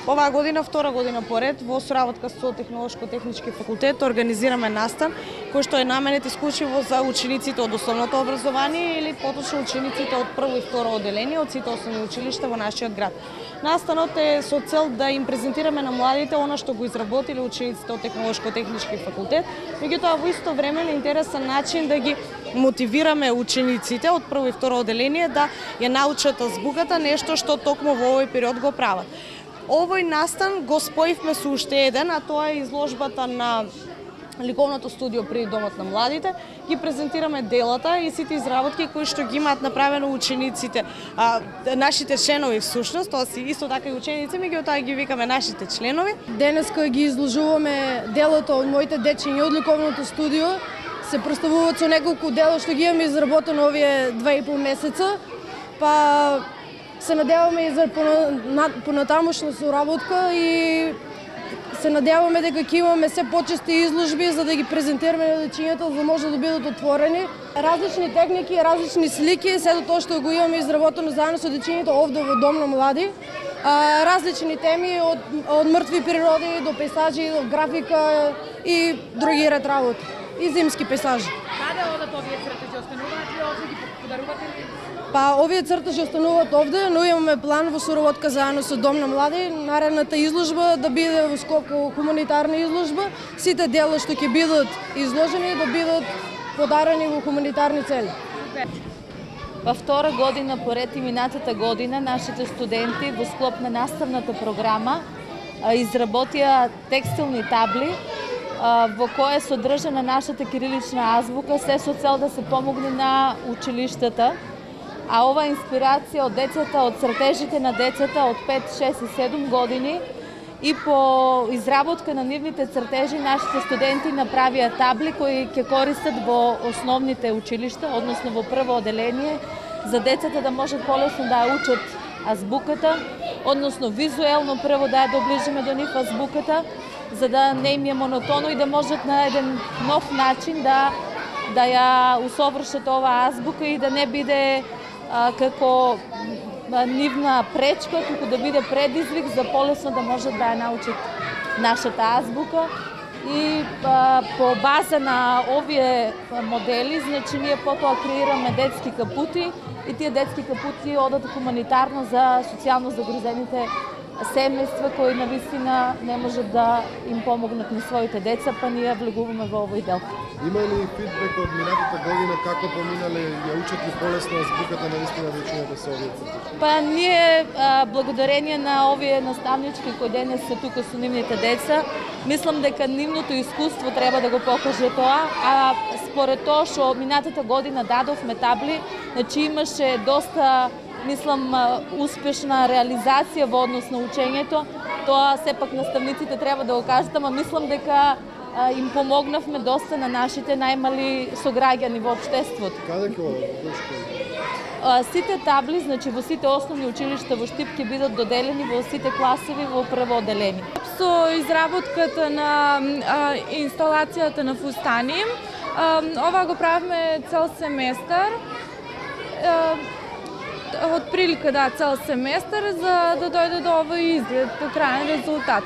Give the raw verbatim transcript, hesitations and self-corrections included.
Оваа година, втора година поред, во соработка со Технолошко-технички факултет организираме настан кој што е наменет исклучиво за учениците од основното образование или поточно учениците од прво и второ одделение од сите основни училишта во нашиот град. Настанот е со цел да им презентираме на младите она што го изработиле учениците од Технолошко-технички факултет, меѓутоа во исто време на интересен начин да ги мотивираме учениците од прво и второ одделение да ја научат азбуката, нешто што токму во овој период го прават. Овој настан го споивме со уште еден, а тоа е изложбата на ликовното студио при Домот на младите. Ги презентираме делата и сите изработки кои што ги имаат направено учениците, а, нашите членови всушност, тоа си исто така и ученици, меѓутоа ги викаме нашите членови. Денеска ги изложуваме делото од моите дечиња од ликовното студио. Се представуваат со неколку дела што ги имаме изработено овие два и пол месеца, па се надеваме и за понатамошна соработка и се надеваме дека ќе имаме се почести изложби за да ги презентираме на дечињата, за да може да бидат отворени. Различни техники, различни слики, сето тоа што го имаме изработено заедно со дечињата овде во Дом на млади. А, различни теми од, од мртви природи до пейсажи, до графика и други ред работи. И зимски пейсажи. Каде одат овие цртежи? Остануваат ли овде, ги подарувате ли? Па, овие цртежи остануваат овде, но имаме план во соработка заедно со Дом на млади, наредната изложба да биде во скоп хуманитарна изложба, сите дела што ќе бидат изложени да бидат подарени во хуманитарни цели. Во втора година поред и минатата година нашите студенти во склоп на наставната програма изработија текстилни табли во која е содржана нашата кирилична азбука, се со цел да се помогне на училиштата. А ова инспирација од децата, од цртежите на децата од пет, шест и седум години и по изработка на нивните цртежи нашите студенти направија табли кои ќе користат во основните училишта, односно во прво одделение, за децата да можат полесно да ја учат азбуката, односно визуелно прво да ја доближиме до нив азбуката, за да не им е монотоно и да можат на еден нов начин да да ја усовршат оваа азбука и да не биде а, како а, нивна пречка, туку да биде предизвик за полесно да можат да ја научат нашата азбука. И а, по база на овие модели, значи ние потоа креираме детски капути и тие детски капути одат хуманитарно за социјално загрозените семејства кои навистина не можат да им помогнат на своите деца, па ние влегуваме во овој дел. Има ли фидбек од минатата година како поминале, ја учат ли полесно азбуката навистина дечињата со овие цртежи? Па ние а, благодарение на овие наставнички кои денес се тука со нивните деца, мислам дека нивното искуство треба да го покаже тоа, а според тоа што минатата година дадовме табли, значи имаше доста мислам успешна реализација во однос на учењето. Тоа сепак наставниците треба да го кажат, ама мислам дека а, им помогнавме доста на нашите најмали сограѓани во општеството. Каде ќе одат? Сите табли, значи во сите основни училишта во Штип ќе бидат доделени во сите класови во прво одделение. Со изработката на а, инсталацијата на фустани, а, ова го правиме цел семестар. А, Од прилика да цел семестар за да дојде до овој изглед по крајен резултат.